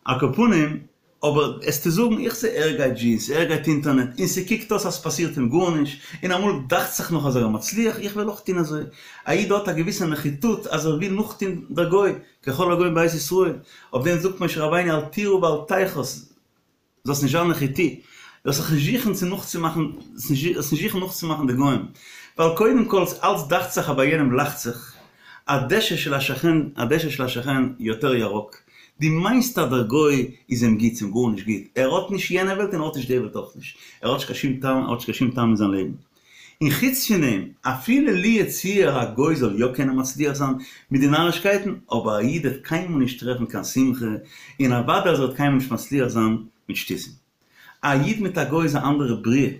על כל פנים, אבער עסטו זאגן איך זע ער גייט דזשינס, ער גייט אינטערנעט, און ס'קוקט אויס אז ס'פאסירט אים גארנישט, און אמאל דאכט זיך נאך אז ער איז מצליח, איך וועל אויך טון אזוי. א איד האט א געוויסע נחיתות אז ער וויל נאכטון דער גוי, ככל הגוים בית ישראל. אויף דעם זאגט משה רבינו אל תירא ואל תחת. זאלסט נישט זיין נחותי, זאלסט זיך נישט זוכן צו נאכצומאכן, זאלסט נישט זוכן נאכצומאכן די גוים, ווייל קודם כל אלץ דאכט זיך אז ביי יענעם לאכט זיך, הדשא של השכן, הדשא של השכן יותר ירוק, דו מיינסט אז דער גוי איז אים גוט, ס'אים גארנישט גוט, ער האט נישט יענע וועלט און ער האט נישט די וועלט אויך נישט, ער האט נישט קיין שום טעם, ער האט נישט קיין שום טעם אין זיין לעבן. און חוץ פון דעם, אפילו לו יצוייר א גוי זאל יא קענען מצליח זיין מיט די נארישקייטן, אבער א איד וועט קיינמאל נישט טרעפן קיין שמחה, און אוודאי אז ער וועט קיינמאל נישט מצליח זיין מיט שטותים. א איד מיט א גוי איז א אנדערע בריאה.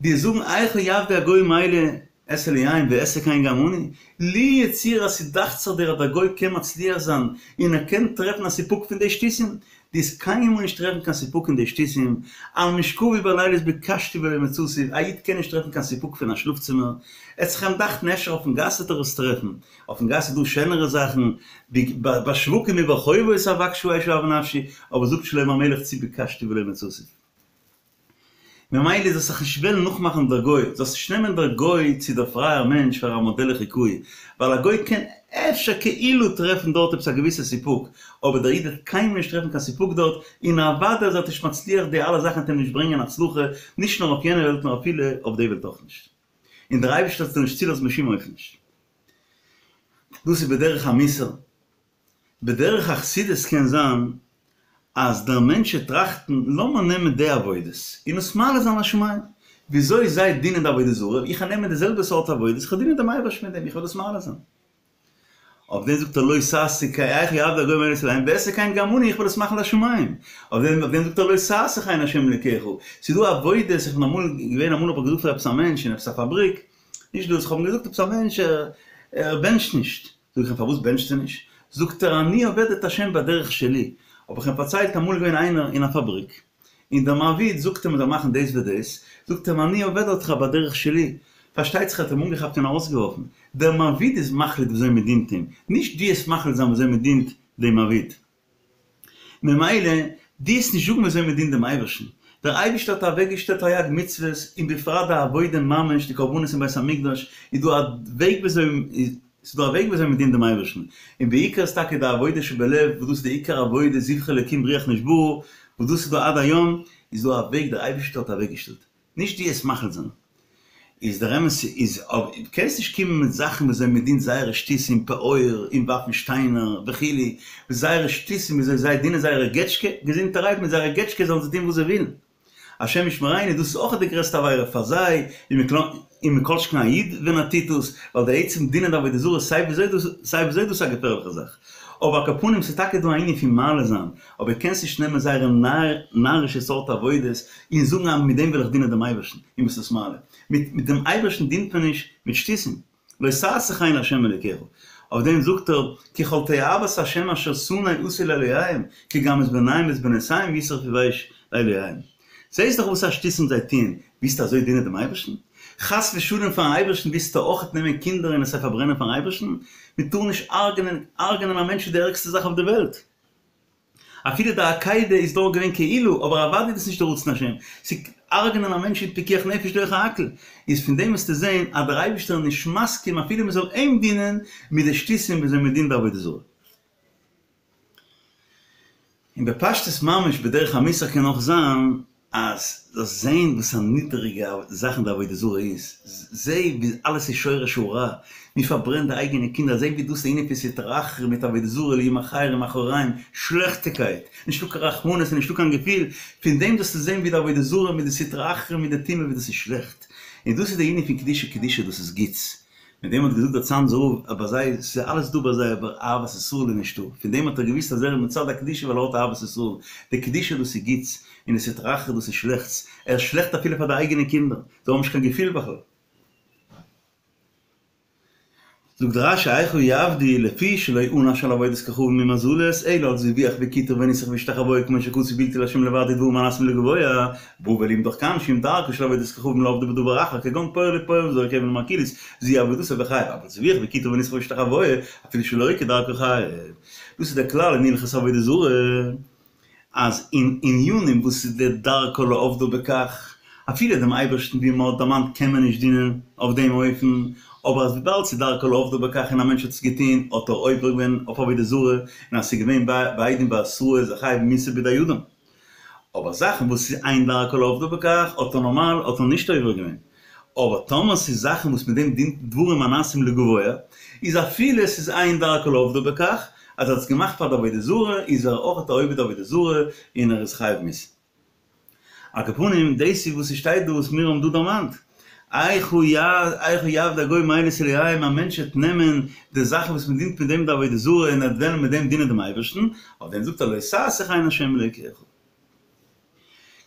די זאגן איכה יעבדו הגוים האלה את אלהיהם ואעשה כן גם אני, לו יצוייר אז ס'דאכט זיך דיר אז דער גוי קען מצליח זיין און ער קען טרעפן א סיפוק פון די שטותים, דו וועסט קיינמאל נישט טרעפן קיין סיפוק אין די שטותים, על משכבי בלילות ביקשתי ולא מצאתי, א איד קען נישט טרעפן קיין סיפוק פון א שלאף צימער, עט זיך אים דאכטן אפשר אויפן גאס וועט ער עס טרעפן, אויפן גאס איז דא שענערע זאכן, בשווקים וברחובות אבקשה אשאוה נפשי, אבער זאגט שלמה המלך צו ביקשתי ולא מצאתי. ממילא זאלסט זיך נישט וועלן נאכמאכן דער גוי, זאלסט נישט נעמען דער גוי צו דער פרייער מענטש פאר א מאדעל לחיקוי, ווייל א גוי קען אפשר כאילו טרעפן דארט עפעס א געוויסע סיפוק, אבער דער איד וועט קיינמאל נישט טרעפן קיין סיפוק דארט, און אוודאי אז ער וועט נישט מצליח די אלע זאכן וועט אים נישט ברענגען הצלחה, נישט נאר אויף יענע וועלט נאר אפילו אויף די וועלט אויך נישט. און דער אייבערשטער וועט עס נישט צולאזן בשום אופן נישט. דאס איז בדרך המוסר. בדרך החסידות קען זיין אז דער מענטש וועט טראכטן לאמיר נעמען די עבודות און עס מעלה זיין לשמים, וויאזוי זיי דינען די עבודה זרה, איך וועל נעמען די זעלבע סארט עבודות, איך וועל דינען דעם אייבערשטן מיט דעם, איך וועל דאס מעלה זיין. אויף דעם זאגט ער לא תעשה כן איכה יעבדו הגוים האלה את אלהיהם ואעשה כן גם אני, איך וועל עס מאכן לשמים. אויף דעם אויף דעם זאגט ער לא תעשה כן ה' אלוקיך. ס'איז דא עבודות, איך בין אמאל געווען אמאל האב איך געזאגט פאר עפעס א מענטש אין עפעס א פאבריק, נישט דאס, איך האב אים געזאגט עפעס א מענטש ער בענטשט נישט, זאג איך אים פארוואס בענטשסטו נישט? זאגט ער אני עובד את השם בדרך שלי, האב איך אים פארציילט אמאל איז געווען איינער אין א פאבריק, און דער מעביד זאגט אים ער זאל מאכן דאס ודאס, זאגט אים אני עובד אותך בדרך שלי, פארשטייט זיך ער האט אים אנגעכאפט און ארויסגעווארפן, דער מעביד איז מחליט וויאזוי מען דינט אים, נישט דו עסט מחליט זיין וויאזוי מען דינט דעם מעביד. ממילא, דו וועסט נישט זאגן וויאזוי מען דינט דעם אייבערשטן. דער אייבערשטער האט אוועקגעשטעלט תרי"ג מצוות, און בפרט די עבודה ממש, די קרבנות אין בית המקדש, איז דא א וועג וויאזוי, ס'איז דא א וועג וויאזוי מען דינט דעם אייבערשטן. און בעיקר איז טאקע די עבודה שבלב, וואס דאס איז די עיקר עבודה, זבחי אלקים רוח נשברה, וואס דאס איז דא עד היום, איז דא א וועג דער אייבערשטער האט אוועקגעשטעלט. נישט דו וועסט מחליט זיין. איז דער אמת איז אבער דו קענסט נישט קומען מיט זאכן וויאזוי מען דינט זייערע שטותים פעור און ווארפן שטיינער וכו' זייערע שטותים וויאזוי זיי דינען זייערע געטשקע, געזונטערהייט מיט זייערע געטשקע זאלן זיי טון וואס זיי ווילן. השם ישמרינו דאס איז אויך די גרעסטע עבירה פאר זיי, און מכל שכן א איד ווען ער טוט דאס, ווייל די עצם דינען די עבודה זרה סיי וויאזוי דאס סיי וויאזוי דאס איז א געפערליכע זאך. אבער על כל פנים ס'איז טאקע דא א ענין פון מעלה זיין, אבער קענסט נישט נעמען זייערע נארישע סארט עבודות און זאגן אז מיט דעם וויל איך דינען דעם אייבערשטן, און ביסט עס מעלה. מיט מיט דעם אייבערשטן דינט מען נישט מיט שטותים. לא תעשה כן לה' אלוקיך. אויף דעם זאגט ער, כי כל תועבת ה' אשר שנא עשו לאלהיהם, כי גם את בניהם ואת בנותיהם ישרפו באש לאלהיהם. זעסט דאך וואס א שטותים זיי טוען, ווילסטו אזוי דינען דעם אייבערשטן? חס ושלום פארן אייבערשטן ווילסטו אויכעט נעמען קינדער און עס זיי פארברענען פארן אייבערשטן? מען טאר נישט הרג'נען, הרג'נען א מענטש איז די ערגסטע זאך אויף די וועלט. אפילו די עקידה איז דארט געווען כאילו, אבער אוודאי איז דאס נישט די רצון השם. צו הרג'נען א מענטש איז פיקוח נפש דוחה הכל. איז פון דעם וועסטו זען אז דער אייבערשטער איז נישט מסכים אפילו מען זאל אים דינען מיט די שטותים וויאזוי מען דינט די עבודה זרה. און בפשטות ממש בדרך המוסר קען אויך זיין אז זאלסט זעהן וואס א נידעריגע זאכן די עבודה זרה איז, זעה ווי אלעס איז שורש הרע, מען פארברענט די אייגענע קינדער, זעה ווי דאס איז ענין פון סטרא אחרא מיט עבודה זרה אלהים אחרים מאחוריהם, שלעכטיגקייט, נישטא קיין רחמנות און נישטא קיין געפיל, פון דעם זאלסטו זעהן ווי די עבודה זרה מיט די סטרא אחרא מיט די טומאה ווי דאס איז שלעכט, און דאס איז די ענין פון קדושה, קדושה דאס איז גוטס. מיט דעם האט געזאגט דער צאנזער רב אז ביי זיי ס'איז אלעס דא ביי זיי אבער אהבת ישראל איז נישטא, פון דעם האט ער געוואוסט אז ער איז מצד הקדושה ווייל ער האט אהבת ישראל, די קדושה דאס איז גוטס, און די סטרא אחרא דאס איז שלעכטס, ער איז שלעכט אפילו פאר די אייגענע קינדער, זיי האבן נישט קיין געפיל בכלל. זאגט רש"י איכה יעבדו לפי שלא ענש על עבודת כוכבים ומזלות אלא על זבוח וקיטור וניסוך והשתחוואה כמו שכתוב בלתי לה' לבדו דברים הנעשים לגבוה בא ולימדך כאן שאם דרכו של עבודת כוכבים לעובדו בדבר אחר כגון פוער לפוער וזורק אבן למרקוליס זו עבודתו וחייב אבל זבוח וקיטור וניסוך והשתחוואה אפילו שלא כדרכו חייב דאס איז דער כלל אין הלכות עבודה זרה אז אין ענינים וואס איז די דרכו לעובדו בכך, אפילו דעם אייבערשטן ווי מען האט דערמאנט קען מען נישט דינען אויף דעם אופן, אבער אז וויבאלד ס'איז דרכו לעובדו בכך און א מענטש האט עס געטון האט ער עובר געווען אויף עבודה זרה, און אז ס'איז געווען בעדים בהתראה איז ער חייב מיתה בידי אדם. אבער זאכן וואס איז אין דרכו לעובדו בכך האט ער נארמאל האט ער נישט עובר געווען. אבער טאמער ס'איז זאכן וואס מיט דעם דינט דברים הנעשים לגבוה, איז אפילו ס'איז אין דרכו לעובדו בכך, אז ער האט עס געמאכט פאר די עבודה זרה, איז ער אויך א עובד עבודה זרה און ער איז חייב מיתה. על כל פנים, דאס איז וואס ס'שטייט דא וואס מיר האבן דא דערמאנט. איכה יעבדו הגוים האלה את אלהיהם, א מענטש וועט נעמען די זאכן וואס מ'דינט מיט דעם די עבודה זרה און ער וועט וועלן מיט דעם דינען דעם אייבערשטן, אויף דעם זאגט ער לא תעשה כן לה' אלוקיך.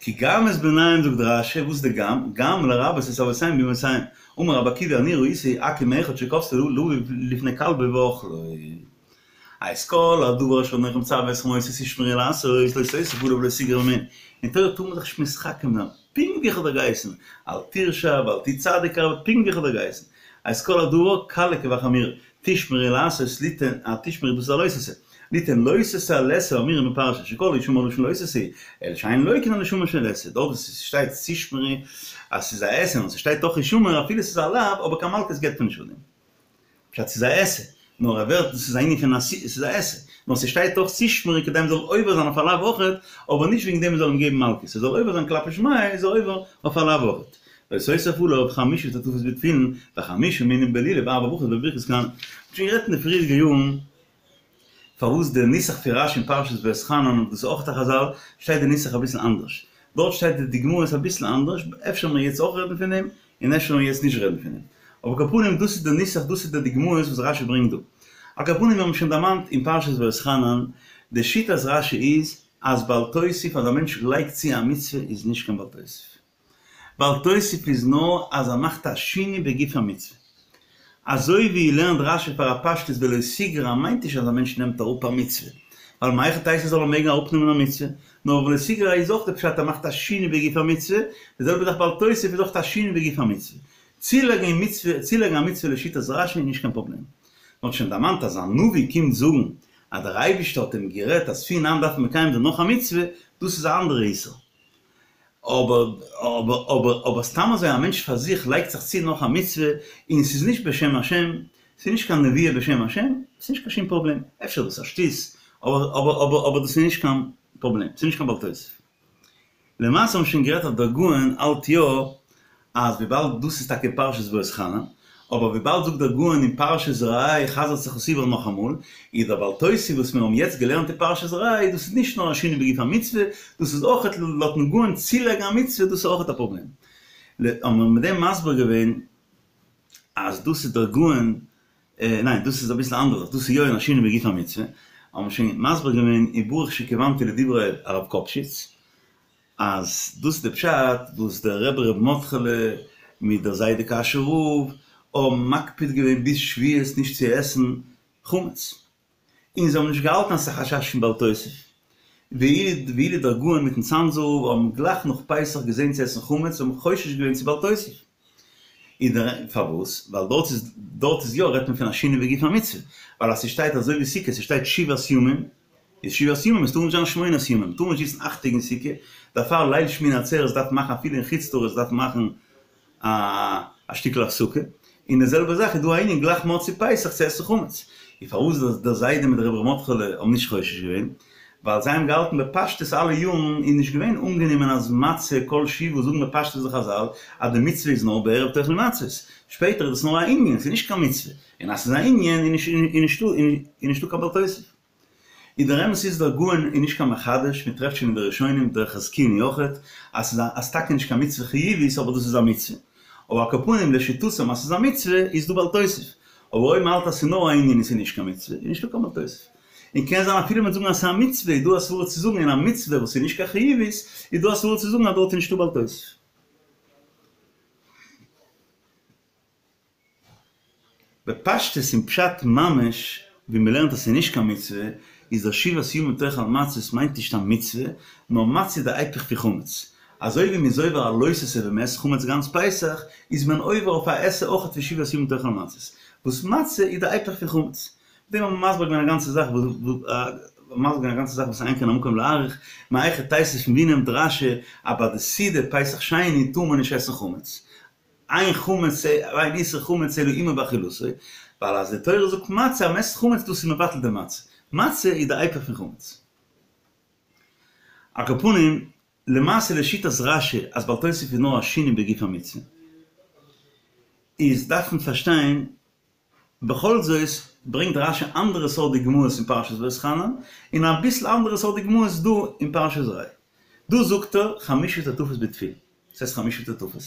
כי גם את בניהם זאגט רש"י, וואס איז די גם? גם לרבות את אבותיהם ואמותיהם. אמר רבי עקיבא אני ראיתי עכו"ם אחד שקפצו לאביו לפני כלבו ואכלו. את כל הדבר אשר אנכי מצוה אתכם אותו תשמרו לעשות לא תוסיף עליו ולא תגרע ממנו. אין תורה טאר מען זיך נישט מתחכם זיין, פונקט ווי איך האב דיר געהייסן, אל תרשע ואל תהי צדיק הרבה, פונקט ווי איך האב דיר געהייסן. את כל הדבר קלה כבחמורה, תשמרו לעשות ליתן, א תשמרו דאס איז א לא תעשה, ליתן לא תעשה על עשה האמורה בפרשה, שכל ההישמר לשון לא תעשה, אלא שאין לוקין על הישמר של עשה, דארט וואס עס שטייט תשמרו אז ס'איז א עשה און ס'שטייט דאך הישמר אפילו ס'איז א לאו אבער קיין מלקות געבט מען נישט פאר דעם. פשט ס'איז א עשה, נאר ער ווערט דאס איז א ענין פון עשי ס'איז א עשה, נאר ס'שטייט דאך תשמרו כדי מ'זאל עובר זיין אויף א לאו אויכעט, אבער נישט וועגן דעם מ'זאל אים געבן מלקות, ער זאל עובר זיין כלפי שמיא איז ער עובר אויף א לאו אויכעט. לא תוסיף עליו חמשה טוטפות בתפילין וחמשה מינים בלולב וארבע ברכות בברכת כהנים. מ'האט שוין גערעדט אין די פריערדיגע יארן פארוואס די נוסח פון רש"י אין פרשת ואתחנן און דאס איז אויך א חזל שטייט די נוסח אביסל אנדערש. דארט שטייט די דוגמאות אביסל אנדערש, אפשר וועלן מיר יעצט אויך רעדן פון דעם, און אפשר וועלן מיר יעצט נישט רעדן פון דעם. אבער על כל פנים דאס איז די נוסח, דאס איז די דוגמאות וואס רש"י ברענגט דא. על כל פנים מיר האבן שוין דערמאנט אין פרשת ואתחנן, די שיטת רש"י איז אז בל תוסיף אז א מענטש לייגט צו א מצוה איז נישט קיין בל תוסיף. בל תוסיף איז נאר אז ער מאכט א שינוי בגוף המצוה. אזוי ווי לערנט רש"י פאר א פשטות ולא תגרע מיינט נישט אז א מענטש נעמט אראפ א מצוה, ווייל מהיכי תיתי זאל ער מעגן אראפנעמען א מצוה, נאר ולא תגרע איז אויך די פשט ער מאכט א שינוי בגוף המצוה, די זעלבע זאך בל תוסיף איז אויך א שינוי בגוף המצוה. צולייגן מצוה, צולייגן א מצוה לשיטת רש"י איז נישט קיין פראבלעם. מען האט שוין דערמאנט אז א נביא קומט זאגן אז דער אייבישטער האט אים גערעדט אז פון היינט דארף מען מקיים זיין נאך א מצוה, דאס איז א אנדערע איסור. אבער אבער אבער אבער סתם אזוי א מענטש פאר זיך לייגט זיך צו נאך א מצוה און ס'איז נישט בשם השם, ס'איז נישט קיין נבואה בשם השם, ס'איז נישט קיין שום פראבלעם. אפשר איז דאס א שטות, אבער אבער אבער אבער דאס איז נישט קיין פראבלעם, ס'איז נישט קיין בל תוסיף. למעשה האבן שוין גערעדט אז דער גאון האלט יא אז וויבאלד דאס איז טאקע פרשת ואתחנן, אבער וויבאלד זאגט דער גאון אין פרשת ראה חזר'ט זיך עס איבער נאכאמאל, איז דער בל תוסיף וואס מיר האבן יעצט געלערנט אין פרשת ראה דאס איז נישט נאר א שינוי בגוף המצוה, דאס איז אויכעט לויטן גאון צולייגן א מצוה דאס איז אויכעט א פראבלעם. האבן מיר מיט דעם מסביר געווען אז דאס איז דער גאון, ניין דאס איז אביסל אנדערש, דאס איז יא אין א שינוי בגוף המצוה, האבן מיר שוין מסביר געווען אין ברוך שכיוונתי לדברי הרב קאפשיץ, אז דאס איז די פשט וואס דער רבי ר' מרדכי'לע מיט דער זיידע קאשוי רב האבן מקפיד געווען ביז שבועות נישט צו עסן חמץ, און זיי האבן נישט געהאלטן אז ס'איז א חשש פון בל תוסיף, ואילו דער גאון מיטן צאנזער רב האבן גלייך נאך פסח געזען צו עסן חמץ און האבן חושש געווען צו בל תוסיף. איז דער פארוואס? ווייל דארט איז דארט איז יא רעדט מען פון א שינוי בגוף המצוה, ווייל אז ס'שטייט אזוי ווי סוכה ס'שטייט שבעת ימים, איז שבעת ימים עס טאר נישט זיין שמונת ימים, מ'טאר נישט זיצן אכט טעג אין סוכה, דערפאר ליל שמיני עצרת דארף מען מאכן אפילו אין חוץ לארץ דארף מען מאכן א א שטיקל הפסקה, און די זעלבע זאך איז דא א ענין גלייך מוצאי פסח צו עסן חמץ, און פארוואס דער זיידע מיט רבי ר' מרדכי'לע האבן נישט חושש געווען? ווייל זיי האבן געהאלטן בפשטות אלע יארן איז נישט געווען אנגענומען אז מצה כל שבעה זאגן בפשטות די חזל אז די מצוה איז נאר בערב תאכלו מצות, שפעטער איז דאס נאר א ענין ס'איז נישט קיין מצוה, און אז ס'איז א ענין איז נישטא קיין בל תוסיף. און דער אמת איז דער גאון איז נישט קיין מחדש, מען טרעפט שוין אין די ראשונים דער חזקוני אויכעט אז ס'איז א אז טאקע נישט קיין מצוה חיובית אבער דאס איז א מצוה, אבער על כל פנים לשיטתם אז ס'איז א מצוה איז דא בל תוסיף, אבער אויב מ'האלט אז ס'איז נאר א ענין און ס'איז נישט קיין מצוה איז נישטא קיין בל תוסיף. און קען זיין אפילו מ'וועט זאגן אז ס'איז א מצוה איז דא א סברא צו זאגן אין א מצוה וואס איז נישט קיין חיובית איז דא א סברא צו זאגן אז דארט איז נישטא בל תוסיף. בפשטות אין פשט ממש ווי מ'לערנט אז ס'איז נישט קיין מצוה, איז דער שבעת ימים תאכל מצות מיינט נישט א מצוה, נאר מצה איז די היפך פון חמץ. אזוי ווי מ'איז עובר א לא תעשה ווען מ'עסט חמץ גאנץ פסח, איז מען עובר אויף א עשה אויכעט פון שבעת ימים תאכל מצות, וואס מצה איז די היפך פון חמץ. מיט דעם האט מען מסביר געווען א גאנצע זאך מסביר געווען א גאנצע זאך וואס אין כאן המקום להאריך, מהיכי תיתי פון ווי נעמט רש"י אז ביי די סעודה פסח שני טאר מען נישט עסן חמץ, אין חמץ אין איסור חמץ אלא עמו באכילתו, ווייל אז די תורה זאגט מצה אז מ'עסט חמץ דאס איז מבטל די מצה, מצה איז די היפך פון חמץ. על כל פנים, למעשה לשיטת רש"י אז בל תוסיף איז נאר א שינוי בגוף המצוה, איז דארף מען פארשטיין בכל זאת ברענגט רש"י אנדערע סארט דוגמאות אין פרשת ואתחנן, און אביסל אנדערע סארט דוגמאות דא אין פרשת ראה. דא זאגט ער חמשה טוטפות בתפילין. וואס הייסט חמשה טוטפות?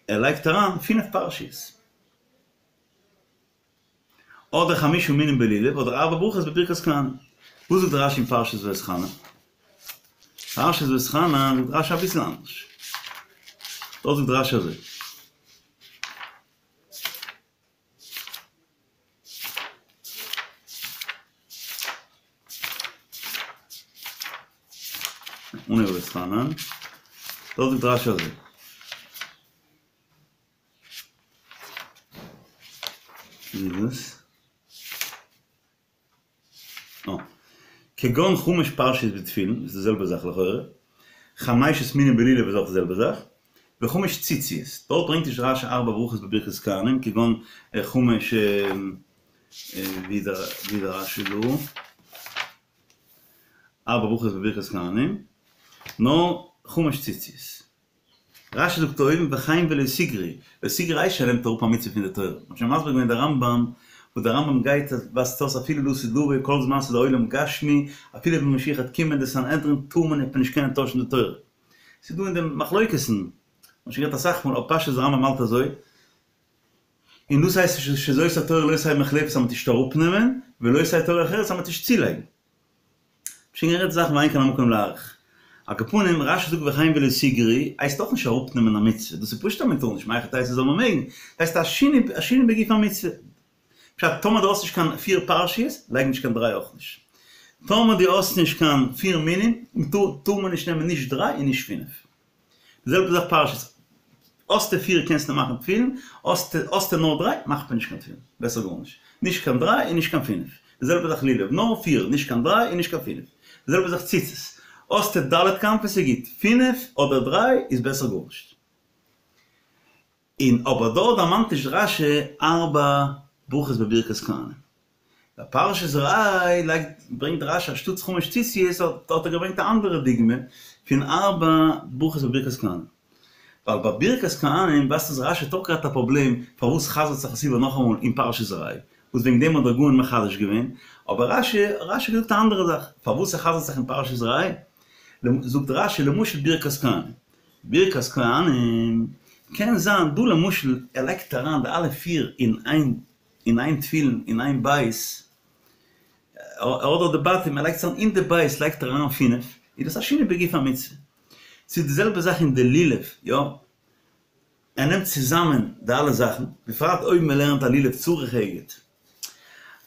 ער לייגט אריין פינף פרשיות. אדער חמשה מינים בלולב אדער ארבע ברכות בברכת כהנים. וואס זאגט רש"י אין פרשת ואתחנן? פרשת ואתחנן זאגט רש"י אביסל אנדערש. דארט זאגט רש"י אזוי. אנהייב ואתחנן, דארט זאגט רש"י אזוי. ווי איז דאס? אה. כגון חמש פרשיות בתפילין, איז די זעלבע זאך לכאורה. חמשת מינים בלולב איז אויך די זעלבע זאך. וחמש ציציות, דארט ברענגט נישט רש"י ארבע ברכות בברכת כהנים, כגון חמש ווי איז דער רש"י דא? ארבע ברכות בברכת כהנים, נאר חמש ציציות. רש"י זאגט אויבן וכן ולא תגרעו, לא תגרעו הייסט ער נעמט אראפ א מצוה פון די תורה, מ'האט שוין מסביר געווען די רמב"ם, וואס די רמב"ם גייט אז ווייזט אויס אפילו לעתיד לבוא כל זמן ס'איז א עולם גשמי, אפילו ווען משיח וועט קומען די סנהדרין טאר מען נישט נישט קענען טוישן די תורה. ס'איז דא אין דעם מחלוקת'ן, מ'האט שוין גערעדט אסאך מאל אבער פשטות די רמב"ם האלט אזוי, און דאס הייסט שזאת התורה לא תהא מוחלפת אז מ'טאר נישט אראפנעמען, ולא תהא תורה אחרת אז מ'טאר נישט צולייגן. שוין גערעדט זאכן ואין כאן המקום להאריך. על כל פנים, רש"י זאגט וכן ולא תגרעו, הייסט אויך נישט אראפנעמען א מצוה, דאס איז פשוט אז מען טאר נישט, מהיכי תיתי זאל מען מעגן, הייסט א שינוי א שינוי בגוף המצוה. פשט, טאמער דו האסט נישט קיין פיר פרשיות, לייג נישט קיין דריי אויך נישט. טאמער דו האסט נישט קיין פיר מינים, טאר מען נישט נעמען נישט דריי און נישט פינף. די זעלבע זאך פרשיות, האסטו פיר קענסטו מאכן תפילין, האסטו נאר דריי מאכט מען נישט קיין תפילין, בעסער גארנישט, נישט קיין דריי און נישט קיין פינף, די זעלבע זאך לולב, נאר פיר, נישט קיין דריי און נישט קיין פינף. די זעלבע זאך ציצית, האסטו ד' כנפות איז גוט, פינף אדער דריי איז בעסער גארנישט. און אבער דארט דערמאנט נישט רש"י ארבע ברכות בברכת כהנים. ביי פרשת ראה לייגט ברענגט רש"י אנשטאטס חמש ציציות האט ער געברענגט א אנדערע דוגמא פון ארבע ברכות בברכת כהנים. ווייל ביי ברכת כהנים ווייזט אויס רש"י האט אויך געהאט א פראבלעם פארוואס חזר'ט זיך עס איבער נאכאמאל אין פרשת ראה וואס וועגן דעם האט דער גאון מחדש געווען, אבער רש"י רש"י האט געזאגט א אנדערע זאך פארוואס ס'חזר'ט זיך אין פרשת ראה, זאגט רש"י למשל ברכת כהנים, ברכת כהנים קען זיין דא למשל ער לייגט אריין די אלע פיר אין איין אין איין תפילין אין איין בית, ער האט דארט די בתים ער לייגט עס אריין אין די בית לייגט ער אריין פינף, איז דאס א שינוי בגוף המצוה. ס'איז די זעלבע זאך אין די לולב, יא, ער נעמט צוזאמען די אלע זאכן, בפרט אויב מען לערנט א לולב צריך אגד,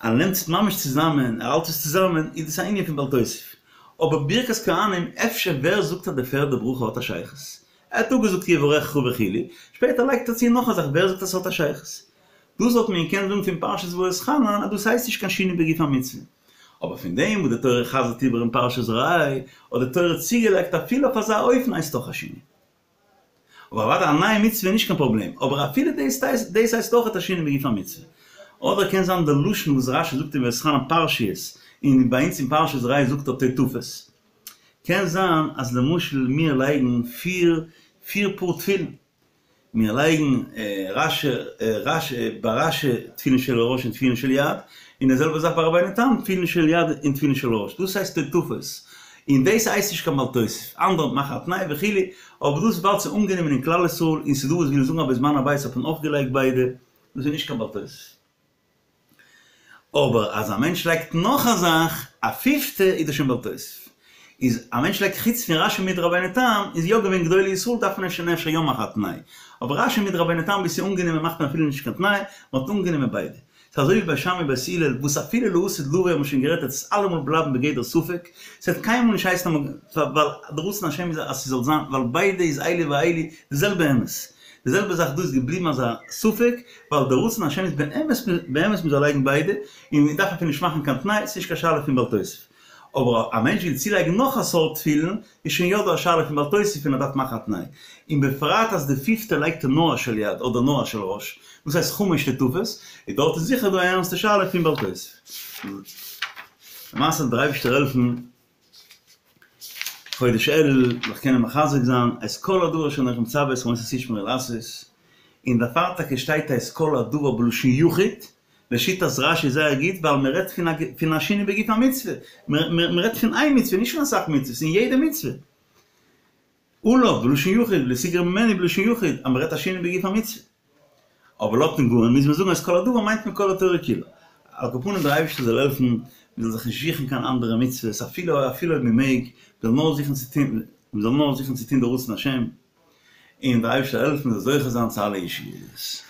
ער נעמט עס ממש צוזאמען, ער האלט עס צוזאמען, איז דאס א ענין פון בל תוסיף. אבער ברכת כהנים, אפשר ווער זאגט אז די פערדע ברכה האט א שייכות? ער האט אפגעזאגט יברכך וכו', שפעטער לייגט ער צו נאך א זאך, ווער זאגט אז ס'האט א שייכות? דאס וואלט מען געקענט זאגן פון פרשת ואתחנן אז דאס הייסט נישט קיין שינוי בגוף המצוה. אבער פון דעם וואס די תורה חזר'ט איבער אין פרשת ראה, האט די תורה צוגעלייגט אפילו אויף אזא אופן הייסט אויך א שינוי. אבער אוודאי א נייע מצוה איז נישט קיין פראבלעם, אבער אפילו דאס דאס הייסט אויך א שינוי בגוף המצוה. אדער קען זיין די לשון וואס רש"י זאגט אין ואתחנן פרשיות, און ביי אונז אין פרשת ראה זאגט ער טוטפות. קען זיין אז למשל מיר לייגן פיר פיר פאר תפילין, מיר לייגן רש"י רש"י ביי רש"י תפילין של ראש און תפילין של יד, און די זעלבע זאך ביי רבינו תם תפילין של יד און תפילין של ראש, דאס הייסט טוטפות, און דאס הייסט נישט קיין בל תוסיף, אנדערע מאכן א תנאי וכו', אבער דאס וויבאלד ס'איז אנגענומען אין כלל ישראל און ס'איז דא וואס ווילן זאגן אז בזמן הבית האט מען אויך געלייגט ביידע, דאס איז נישט קיין בל תוסיף. אבער אז א מענטש לייגט נאך א זאך, א פיפטע, איז דאס שוין בל תוסיף. איז א מענטש לייגט חוץ פון רש"י מיט רבינו תם, איז יא געווען גדולי ישראל דארף מען שוין אפשר יא מאכן א תנאי. אבער רש"י מיט רבינו תם ווי ס'איז אנגענומען מאכט מען אפילו נישט קיין תנאי, מ'האט אנגענומען ביידע. ס'איז אזוי ווי בית שמאי בית הלל וואס אפילו לעתיד לבוא האבן שוין גערעדט וועט עס אלעמאל בלייבן בגדר ספק, ס'וועט קיינמאל נישט הייסן אז ווייל די רצון השם איז אז ס'זאל זיין ווייל ביידע איז אלו ואלו די זעלבע אמת. די זעלבע זאך דא איז געבליבן אזא ספק, ווייל די רצון השם איז באמת באמת מ'זאל לייגן ביידע, און מ'דארף אפילו נישט מאכן קיין תנאי, ס'נישט קיין שאלה פון בל תוסיף. אבער א מענטש וויל צולייגן נאך א סארט תפילין, איז שוין יא דא א שאלה פון בל תוסיף און ער דארף מאכן א תנאי. און בפרט אז די פיפטע לייגט ער נאר א של יד אדער נאר א של ראש, דאס הייסט חמש טוטפות, איז דארט איז זיכער דא א ערנסטע שאלה פון בל תוסיף. למעשה זאל דער אייבערשטער העלפן חודש אלול זיך קענען מחזק זיין את כל הדבר אשר אנכי מצוה אתכם אותו תשמרו לעשות, און דערפאר טאקע שטייט את כל הדבר בלשון יחיד, לשיטת רש"י זייער גוט ווייל מען רעדט פון א פון א שינוי בגוף המצוה, מען רעדט פון איין מצוה נישט פון אסאך מצוות, אין יעדע מצוה. עליו בלשון יחיד ולא תגרע ממנו בלשון יחיד אז מען רעדט א שינוי בגוף המצוה. אבער לויטן גאון מוז מען זאגן אז כל הדבר מיינט מען כל התורה כולה. על כל פנים דער אייבערשטער זאל העלפן מען זאל זיך נישט זוכן קיין אנדערע מצוות אפילו אפילו אויב מען מעג, מען זאל נאר זוכן צו טון מען זאל נאר זוכן צו טון די רצון השם, און דער אייבערשטער זאל העלפן מען זאל זוכה זיין צו אלע ישועות.